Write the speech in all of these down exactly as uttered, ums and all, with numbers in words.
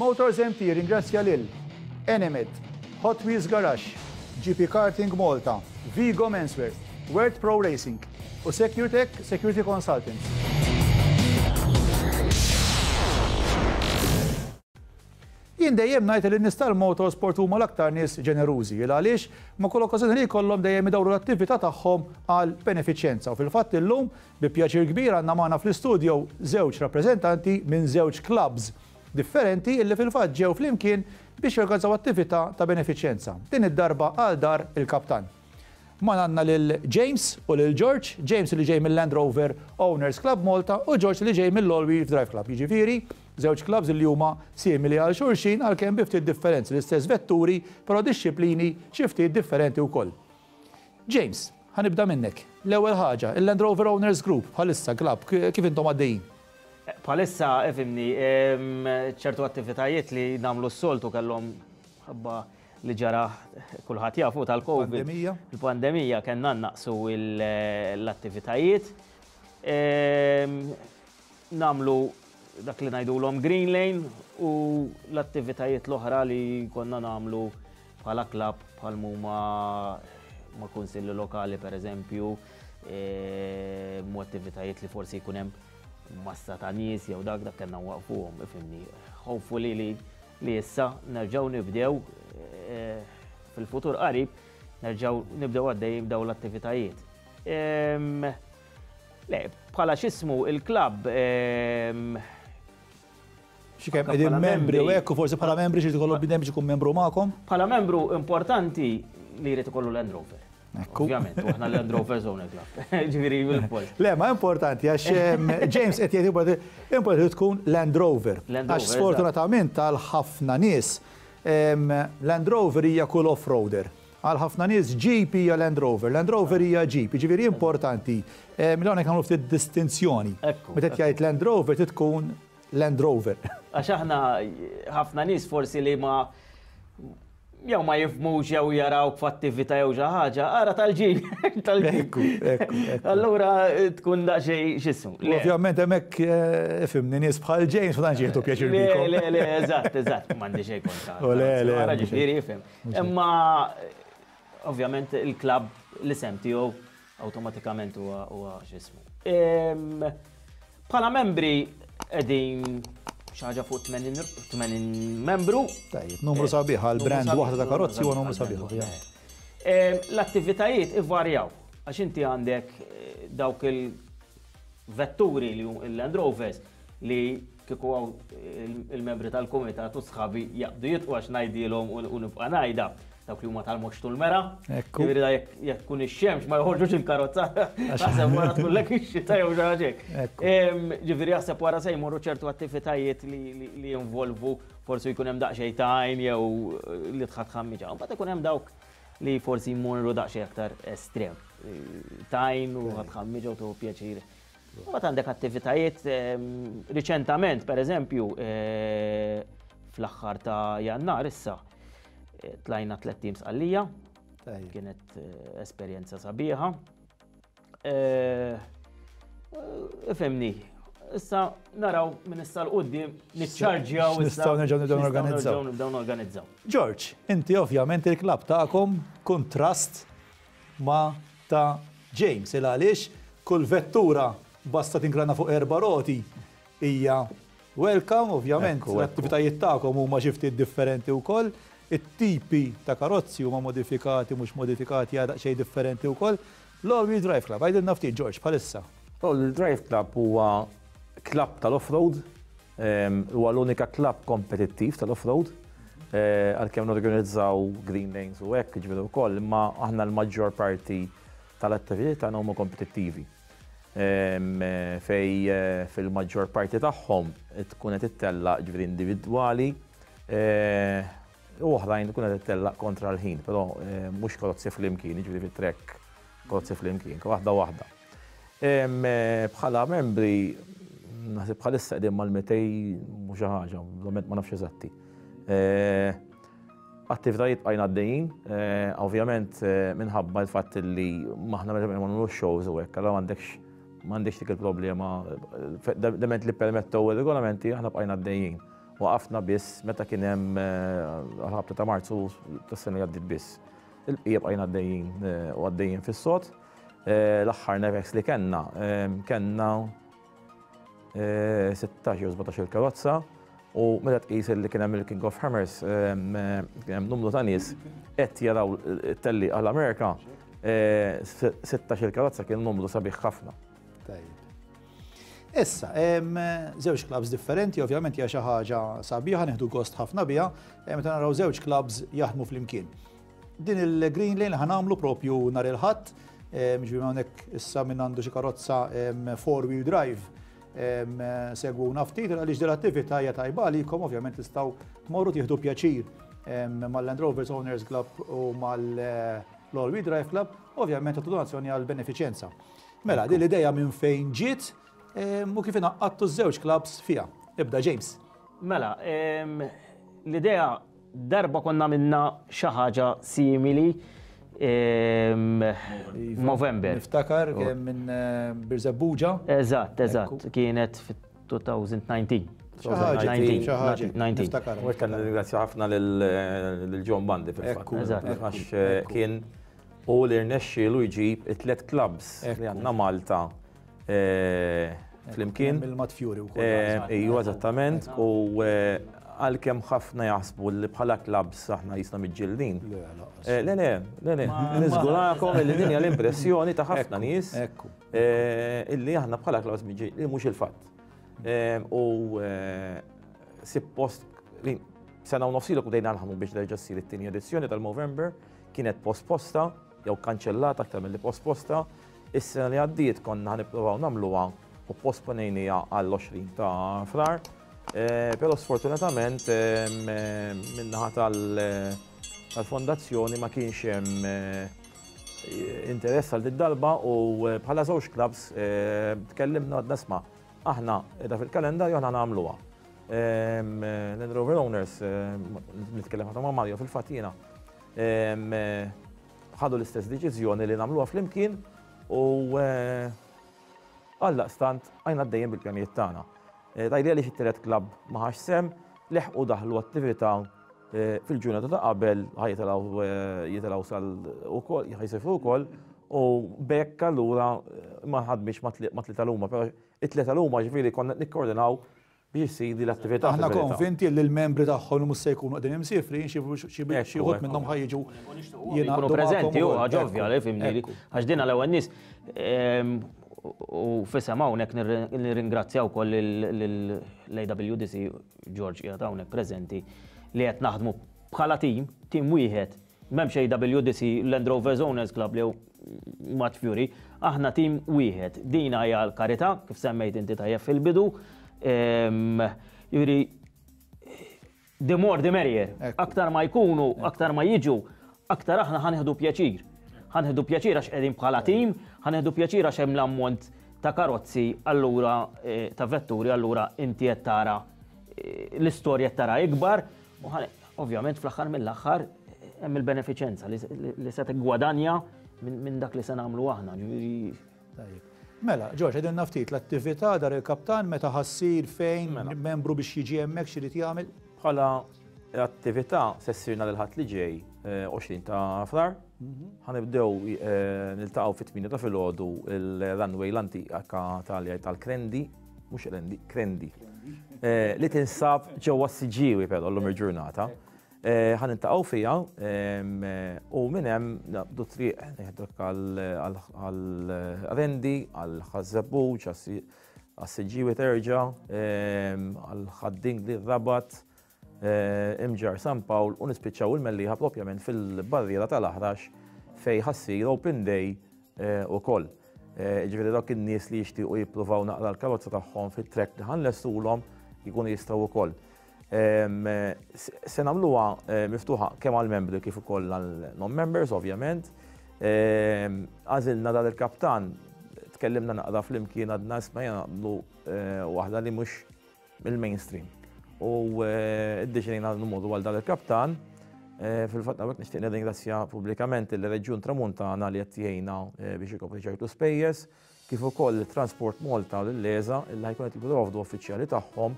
Motors M T ringrazzja lil Enemed, Hot Wheels Garage, G P Karting Malta, Vigo Menswear, World Pro Racing u SecureTech Security Consultants. Jien dejjem ngħid li n-nies tal-motorsport huma l-aktar nies ġenerużi, il għaliex ma' kull okkażjoni li jkollhom dejjem idawru l-attività tagħhom għal benefiċjenza. U fil-fatt illum bi pjaċir kbir għandna magħna fl-istudio żewġ rappreżentanti minn żewġ clubs differenti illi fil-fatt ġew flimkien biex jorganizzaw attività ta' benefiċjenza. Din id-darba għal Dar il-Kaptan. Magħna għandna lil James u lil George, James li ġej mill-Land Rover Owners Club Malta u George li ġej mill-All Wheel Drive Club. Jiġifieri, żewġ clubs li huma simili għal xulxin għalkemm bi ftit differenzi, l-istess vetturi, però dixxiplini xi ftit differenti wkoll. James, ħa nibda minnek. L-ewwel ħaġa, il-Land Rover Owners Group bħalissa club kif intom għaddejjin? Bħalissa, ifhimni, ċertu attivitajiet li nagħmlu s-soltu kellhom ħabba li ġara, kulħadd jafu, tal-Covid. Pandemija. Il-pandemija kellna naqsu l-attivitajiet. Nagħmlu dak li ngħidulhom Green Lane u l-attivitajiet l-oħra li konna nagħmlu bħala club, bħal huma ma' kunsilli lokali per eżempju, mu attivitajiet li forsi jkun hemm massa ta' nies jew dak dak kellna waqfuhom, ifhimni. Hopefully li li issa nerġgħu nibdew eh, fil-futur qarib nerġgħu nibdew għaddejjin daw l-attivitajiet. Le, bħala x'ismu il-klabb Xi kemm qegħdin membri u hekk, u forsi bħala membri xi tkollu bidem biex ikun membru magħkom? Bħala membru importanti li jrid ikollu Land Rover. Ovvjament, u aħna Land Rover Owner Club. Ġifieri bil-post. Le, ma importanti għax James qed jgħid importanti tkun Land Rover. Għax sfortunatament tal ħafna nies Land Rover hija kull off-roader. Għal ħafna nies Jeep hija Land Rover, Land Rover hija Jeep, ġifieri importanti. Milona nagħmlu ftit distinzjoni. Meta jgħid Land Rover tkun Land Rover. Għax aħna ħafna nies forsi li ma jew ma jifhmux jew jaraw f'attività jew xi ħaġa, ara tal-Jeep, tal-Jeep. Allura tkun daqsxejn x'ismu. Ovvjament hemmhekk eh, fimni nies bħal James ma tantx jieħdu pjaċir bikom. Le, le, eżatt, eżatt, m'għandi xejn kontra. Le, le. Ara ġifieri jifhem. Imma ovvjament il-klabb, l-isem tiegħu awtomatikament huwa x'ismu. Bħala membri qegħdin xi ħaġa fuq tmenin membru. Tajjeb, numru sabiħ għal brand waħda ta' karozzi huwa numru sabiħ. L-attivitajiet ivarjaw, għax inti għandek eh, dawk il-vetturi li il-Land Rovers li kieku hawn il-membri tal-komitat u sħabi jaqbdu jitqu għax ngħidilhom u nibqa' ngħidha, dawk li huma tal-moxtu l-mera. Ġifieri da jekk tkun ix-xemx ma joħorġux il-karozza. Naħseb wara tkun lek ix-xita jew xi ħaġa. Ġifieri jaħseb wara se jmorru ċertu attivitajiet li jinvolvu forsi jkun hemm daqsxejn tajn jew li tħadd ħammiġa. Mbagħad ikun hemm dawk li forsi jmorru daqsxejn aktar estrem. Tajn u ħadd ħammiġa u tuħu pjaċir. Mbagħad għandek attivitajiet riċentament, per eżempju, eh, fl-aħħar ta' Jannar issa, tlajna tliet teams għallija, kienet eh, esperjenza sabiħa. Eh, Ifhimni, issa naraw minn issa 'l quddiem niċċarġjaw. Nistgħu nerġgħu nibdew norganizzaw. Nibdew norganizzaw. George, inti ovvjament il-klabb tagħkom kontrast ma ta' James, il għaliex kull vettura basta tingrana fuq erba' roti hija welcome, ovvjament l-attivitajiet tagħkom huma xi ftit differenti wkoll, it-tipi ta' karozzi huma modifikati, mhux modifikati, għadha xejn differenti wkoll. L-All Wheel Drive Club, għidilna ftit, George, bħalissa. All Wheel Drive Club huwa klabb tal-off-road, huwa l-unika klabb kompetittiv tal-off-road, eh, għalkemm norganizzaw green lanes u hekk ġifieri wkoll, imma aħna l-maġġor parti tal-attività tagħna huma kompetittivi. Fej eh, fil-maġġor parti tagħhom tkun qed ittella ġifieri individwali eh, u oħrajn tkun qed ittella kontra l-ħin, però mhux karozzi flimkien, ġifieri fit-track karozzi flimkien, waħda waħda. Bħala membri, naħseb bħalissa qegħdin mal-mitejn mhux xi ħaġa, ovvjament ma nafx eżatti. Attivitajiet bqajna għaddejjin, ovvjament minħabba l-fatt li maħna ma nagħmlux shows u hekk, allura m'għandekx m'għandekx dik il-problema, dement li permettew ir-regolamenti aħna bqajna għaddejjin. Waqafna biss meta kien hemm għal-ħabta ta' Marzu tas-sena li għaddiet biss. Il-bqija bqajna għaddejjin u għaddejjin fis-sod. L-aħħar Nevex li kellna, kellna sittax jew sbatax il-karozza u meta tqis li kien hemm il-King of Hammers, kien hemm numru ta' nies qed jaraw it-telli għall-Amerika, sittax il-karozza kien numru sabiħ ħafna. Tajjeb. Issa, żewġ clubs differenti, ovvjament hija xi ħaġa sabiħa, nieħdu gost ħafna biha, meta naraw żewġ clubs jaħdmu flimkien. Din il-Green Lane ħa nagħmlu propju nhar il-Ħadd, ġifieri hawnhekk issa min għandu xi karozza four wheel drive, segwuna ftit għaliex din l-attività hija tajba għalikom, ovvjament tistgħu tmorru tieħdu pjaċir mal-Land Rovers Owners Club u mal-All Wheel Drive Club, ovvjament tagħtu donazzjoni għal benefiċenza. Mela, din l-idea minn fejn ġiet u kif ingħaqadtu ż-żewġ clubs fiha. Ibda James. Mela, l-idea darba konna minna xi ħaġa simili Movember. Niftakar kemm minn Birżebbuġa. Eżatt, eżatt, kienet fit-elfejn u dsatax. Xi ħaġa, niftakar. U kan ringrazzja ħafna lil John Bandi fil-fatt. Eżatt. Għax kien u li rnexxielu jġib it-tlet clubs li għandna Malta flimkien. Mill-Mat Fury wkoll. Ejju, eżattament. U għalkemm ħafna jaħsbu li bħala clubs aħna jisna miġġildin. Le, le, le, le, niżgurakom li din hija l-impressjoni ta' ħafna nies illi aħna bħala clubs miġġildin, li mhux il-fatt. U suppost li sena u nofs ilu bdejna naħdmu biex terġa' ssir it-tieni edizzjoni tal-Movember, kienet posposta jew kanċellata aktar milli posposta. Is-sena li għaddiet konna ħa nippruvaw nagħmluha u posponejniha għall-għoxrin ta' Frar. Però sfortunatament min-naħa tal-fondazzjoni ma kienx hemm interess għal din darba u bħala żewġ clubs tkellimna, għadna, "Isma', aħna qiegħda fil-kalendarju, aħna nagħmluha." Land Rover Owners, nitkellem ħafna ma' Mario fil-fatt jiena, ħadu l-istess deċiżjoni li nagħmluha flimkien u għaldaqstant għajna dejjem bil-pjanijiet tagħna. Tajli għaliex it-tielet club ma ħax sehem, leħqu daħlu attività fil-ġurnata ta' qabel, ħa jitilgħu jitilgħu sal ukoll, ħa jsifru wkoll, u b'hekk allura ma ħadmix ma tlieta l-huma, però it-tlieta l-huma ġifieri konna nikkoordinaw biex issir l-attività. Aħna konvinti li l-membri tagħhom li mhux se jkunu qegħdin imsifrin, xi wħud minnhom ħa jiġu jkunu preżenti, u ħaġa ovvja li fimni, għax din għal nies u f'isem hawnhekk nirringrazzjaw ukoll l-A W D C, George qiegħed hawnhekk preżenti, li qed naħdmu bħala tim, tim wieħed. M'hemmx A W D C, Land Rover Owners Club li Mat Fury, aħna tim wieħed. Dina hija l-karità, kif semmejt inti tajjeb fil-bidu. Jiġifieri, the more the merrier. Aktar ma jkunu, aktar ma jiġu, aktar aħna ħa nieħdu pjaċir. Ħa nieħdu pjaċir għax qegħdin bħala tim, ħa nieħdu pjaċir għax hemm l-ammont ta' karozzi, allura ta' vetturi, allura inti qed tara l-istorja tara ikbar, u ovvjament fl-aħħar mill-aħħar hemm il-benefiċenza li se tiggwadanja minn dak li se nagħmlu aħna. Mela, George, għidilna ftit l-attività Dar il-Kaptan, meta ħa ssir, fejn, membru biex jiġi hemmhekk x'irid jagħmel? Bħala attività se ssir nhar il-Ħadd li ġej, għoxrin ta' Frar. Ħa nibdew niltaqgħu fit-tmienja ta' filgħodu il-runway l-antika tal-Krendi, mhux Rendi, Krendi, li tinsab ġewwa s-Siġġiewi però llum il-ġurnata. Ħa niltaqgħu fiha u minn hemm naqbdu triq neħdok għal-Rendi, għal Ħaż-Żebbuġ, għas-Siġġiewi terġa', għal Ħad-Dingli, Rabat, Imġarr, San Pawl u nispiċċaw il-Mellieħa propjament fil-barriera tal-Aħrax fejn ħa ssir Open Day ukoll. Ġifieri dawk in-nies li jixtiequ jippruvaw naqra l-karozza tagħhom fit-track li ħa nlestulhom jkunu jistgħu wkoll. Se nagħmluha miftuħa kemm għal-membri kif ukoll għal non-members, ovvjament. Għażilna Dar il-Kaptan, tkellimna naqra flimkien, għadna, "Isma', nagħmlu waħda li mhux mill-mainstream." U iddeċidejna mmorru għal Dar il-Kaptan. Fil-fatt hawnhekk nixtieq nirringrazzja pubblikament il-Reġjun Tramuntana li qed jgħinna biex ikopri ċertu spejjeż, kif ukoll Transport Malta u l-LESA illi ħa jkun qed jipprovdu uffiċjali tagħhom.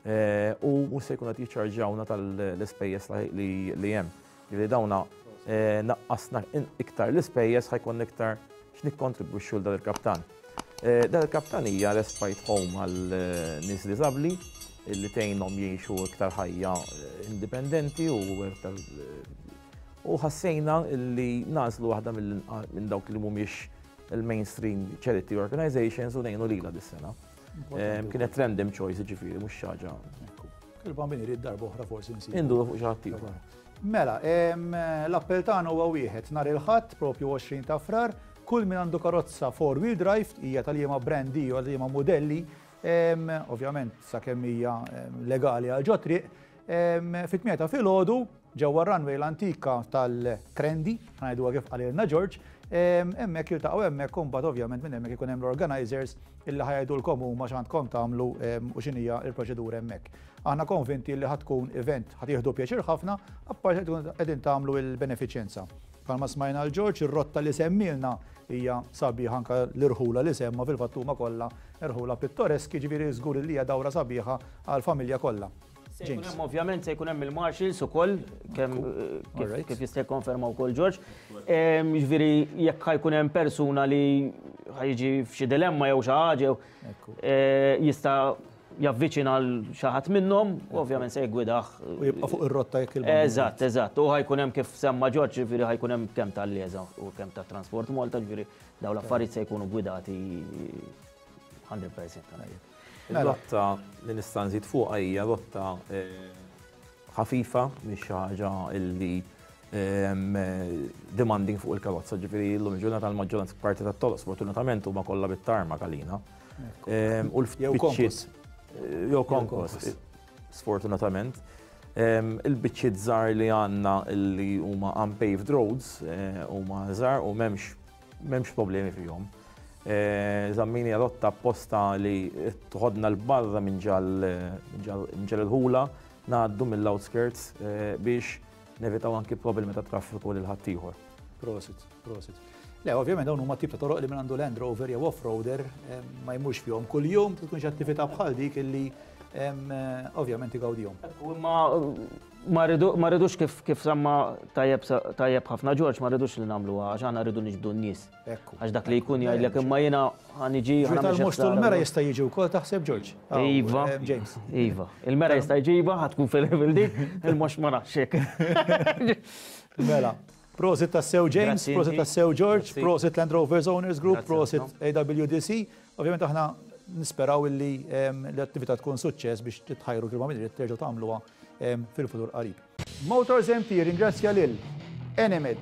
U mhux se jkun qed jiċċarġawna tal-ispejjeż li hemm. Ġifieri dawna naqqasna iktar l-ispejjeż, ħa jkun iktar x'nikkontribwixxu lil Dar il-Kaptan. Dar il-Kaptan hija respite home għal nies diżabbli li tgħinhom jgħixu iktar ħajja indipendenti u iktar u ħassejna li nagħżlu waħda minn dawk li mhumiex il-mainstream charity organizations u ngħinu lilha dis-sena. Kienet random choice, ġifieri, mhux xi ħaġa. Il-Bambin irid, darba oħra forsi nsib. Induru fuq xi ħadd ieħor. Mela, l-appell tagħna huwa wieħed: nhar il-Ħadd, propju għoxrin ta' Frar, kull min għandu karozza four wheel drive, hija tal-liema brandi u għal-liema modelli, ovvjament sakemm hija legali għal ġot-triq, fit-tmienja ta' filgħodu ġewwa runway l-antika tal-Qrendi, ħa ngħidu kif qalilna George, hemmhekk jiltaqgħu hemmhekk, u mbagħad ovvjament minn hemmhekk ikun hemm l-organizers illi ħa jgħidulkom huma x'għandkom tagħmlu u x'inhija l-proċedura hemmhekk. Aħna konvinti li ħa tkun event ħa tieħdu pjaċir ħafna, apparti tkun qegħdin tagħmlu l-benefiċenza. Bħalma smajna l-George, ir-rotta li semmilna hija sabiħa, anka l-irħula li semma fil-fatt huma kollha irħula pittoreski, ġifieri żgur li hija dawra sabiħa għall-familja kollha. Se jkun hemm, ovvjament, se jkun hemm il-marshals ukoll, kemm kif kif jista' jikkonferma wkoll George. Ġifieri jekk ħa jkun hemm persuna li ħa jiġi f'xi dilemma jew xi ħaġa jew jista' javviċina l xi ħadd minnhom, u ovvjament se jgwidah. U jibqa' fuq ir-rotta jekk il Eżatt, eżatt. U ħa jkun hemm, kif semma George, ġifieri ħa jkun hemm kemm tal-LESA u kemm ta' Transport Malta, ġifieri dawn l-affarijiet se jkunu gwidati mija fil-mija. Il-rotta li nista' nżid fuqha hija rotta ħafifa, mhix xi ħaġa illi demanding fuq il-karozza, ġifieri llum il-ġurnata l-maġġoranza parti tat-toroq sfortunatament huma kollha bit-tarmac għalina. U l-biċċiet jew konkos, sfortunatament. Il-biċċiet żgħar li għandna li huma unpaved roads huma żgħar u m'hemmx m'hemmx problemi fihom. Żammejna rotta apposta li toħodna 'l barra minn ġol-irħula, ngħaddu mill-outskirts biex nevitaw anki problemi ta' traffiku lil ħaddieħor. Prosit, prosit. Le, ovvjament dawn huma tip ta' toroq li minn għandu Land Rover jew off-roader ma jmurx fihom kuljum, tkun xi attività bħal dik illi ovvjament igawdihom. Ma ma rridux, kif kif semma tajjeb tajjeb ħafna George, ma rridux li nagħmlu għax aħna rridu niġbdu n-nies. Għax dak li jkun jgħidlek imma jiena ħa niġi. Tal-mhux l-mera jista' jiġi wkoll, taħseb, George? Iva. James. Iva. Il-mera jista' jġiba, ħa tkun fil-level dik, il-mhux ma nafx. Mela. Prosit tassew James, prosit tassew George, prosit Land Rovers Owners Group, prosit A W D C. Ovvjament aħna nisperaw illi l-attività tkun suċċess biex titħajru kif ma terġgħu tagħmluha fil-futur qarib. Motors M T ringrazzja lil Enemed,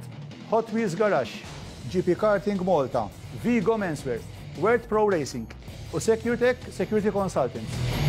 Hot Wheels Garage, G P Karting Malta, Vigo Menswear, World Pro Racing u SecureTech Security Consultants.